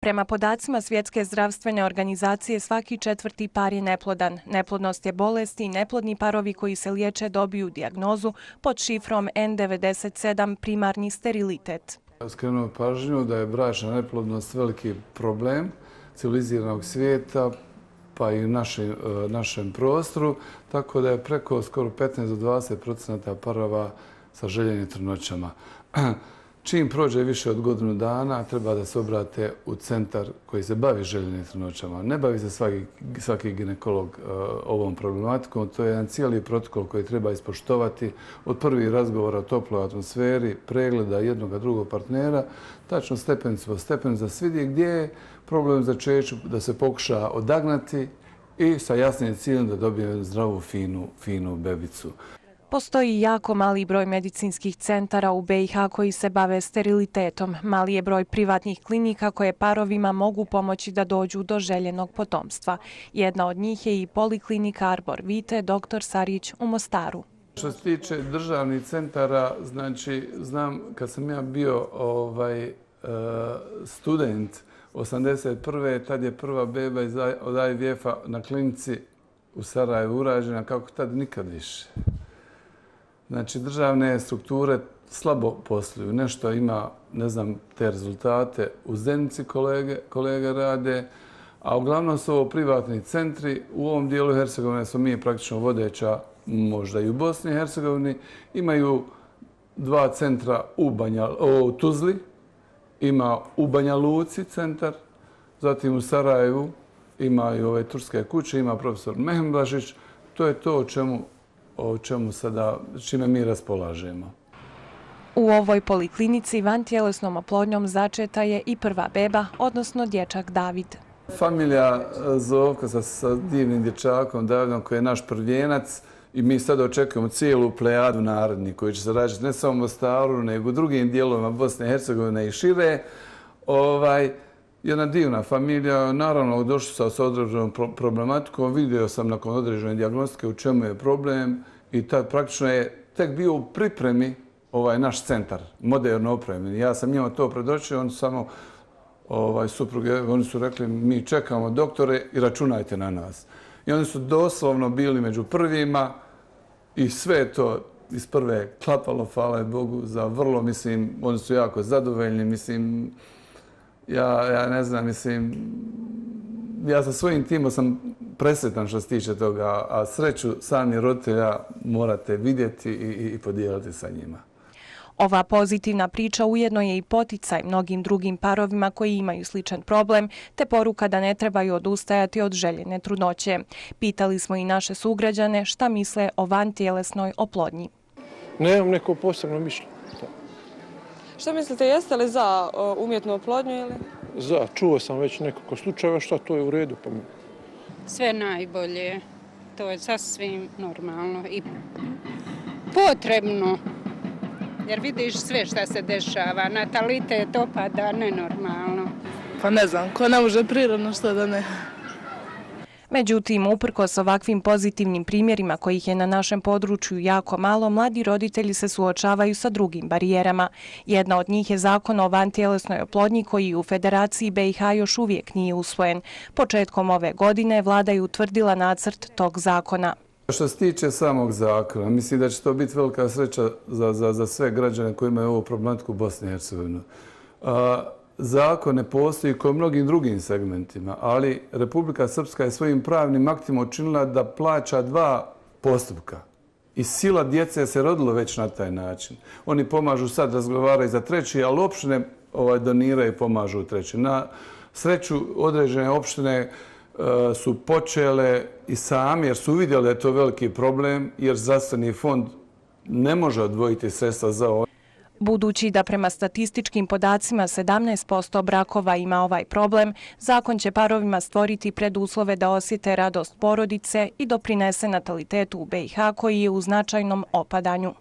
Prema podacima Svjetske zdravstvene organizacije, svaki četvrti par je neplodan. Neplodnost je bolest i neplodni parovi koji se liječe dobiju dijagnozu pod šifrom N97 primarni sterilitet. Skrenuo pažnju da je bračna neplodnost veliki problem civiliziranog svijeta, pa i u našem prostoru, tako da je preko skoro 15 do 20% parova sa željenim trudnoćama. Čim prođe više od godinu dana, treba da se obrate u centar koji se bavi željenim trudnoćama. Ne bavi se svaki ginekolog ovom problematikom. To je jedan cijeli protokol koji treba ispoštovati od prvih razgovora o toploj atmosferi, pregleda jednog drugog partnera, tačno stepenicu po stepenicu da se vidi gdje je problem začeću, da se pokuša odagnati i sa jasnim ciljem da dobije zdravu, finu bebicu. Postoji jako mali broj medicinskih centara u BiH koji se bave sterilitetom. Mali je broj privatnih klinika koje parovima mogu pomoći da dođu do željenog potomstva. Jedna od njih je i poliklinika Arbor Vite dr. Sarić u Mostaru. Što se tiče državnih centara, znači, znam kad sam ja bio student 81. tad je prva beba od IVF-a na klinici u Sarajevu urađena, kako tad nikad više. Znači, državne strukture slabo posluju. Nešto ima, ne znam, te rezultate u Zenici kolege rade, a uglavnom su ovo privatni centri. U ovom dijelu Hercegovine smo mi praktično vodeća, možda i u Bosni i Hercegovini. Imaju dva centra u Tuzli, ima u Banja Luci centar, zatim u Sarajevu imaju ove turske kuće, ima profesor Mehmblažić. To je to čime mi raspolažemo. U ovoj poliklinici vantjelesnom oplodnjom začeta je i prva beba, odnosno dječak David. Familija Zovka sa divnim dječakom Davidom koji je naš prvijenac i mi sad očekujemo cijelu plejadu narednih koji će se rađati ne samo u Mostaru, nego u drugim dijelovima Bosne i Hercegovine i šire. Jedna divna familija, naravno došli su sa određenom problematikom, vidio sam nakon određene dijagnostike u čemu je problem i tad praktično je tek bio u pripremi naš centar, moderno opremljen. Ja sam njima to predočio, oni su samo supruge, oni su rekli mi čekamo doktore i računajte na nas. I oni su doslovno bili među prvima i sve to iz prve klapalo, hvala Bogu, za vrlo, mislim, oni su jako zadovoljni, mislim, ja ne znam, mislim, ja sa svojim timom sam presretan što se tiče toga, a sreću sami roditelja morate vidjeti i podijeliti sa njima. Ova pozitivna priča ujedno je i poticaj mnogim drugim parovima koji imaju sličan problem, te poruka da ne trebaju odustajati od željene trudnoće. Pitali smo i naše sugrađane šta misle o vantjelesnoj oplodnji. Nemam neko posebno mišljenje. Što mislite, jeste li za umjetnu oplodnju ili? Za, čuo sam već nekoliko slučajeva, šta to je u redu po meni. Sve najbolje, to je sasvim normalno i potrebno, jer vidiš sve šta se dešava, natalitet opada nenormalno. Pa ne znam, ko ne može prirodno, što da ne. Međutim, uprkos ovakvim pozitivnim primjerima kojih je na našem području jako malo, mladi roditelji se suočavaju sa drugim barijerama. Jedna od njih je zakon o vantjelesnoj oplodnji koji u Federaciji BiH još uvijek nije usvojen. Početkom ove godine vlada je utvrdila nacrt tog zakona. Što se tiče samog zakona, mislim da će to biti velika sreća za sve građane koji imaju ovu problematiku u Bosni i Hercegovini. Zakon ne postoji kao u mnogim drugim segmentima, ali Republika Srpska je svojim pravnim aktima učinila da plaća dva postupka. I sila djece se rodilo već na taj način. Oni pomažu sad, razgovaraju za treći, ali opštine doniraju i pomažu u treći. Na sreću određene opštine su počele i sami, jer su uvidjeli da je to veliki problem, jer zdravstveni fond ne može odvojiti sredstva za ovo. Budući da prema statističkim podacima 17% brakova ima ovaj problem, zakon će parovima stvoriti preduslove da osjete radost porodice i doprinese natalitetu u BiH koji je u značajnom opadanju.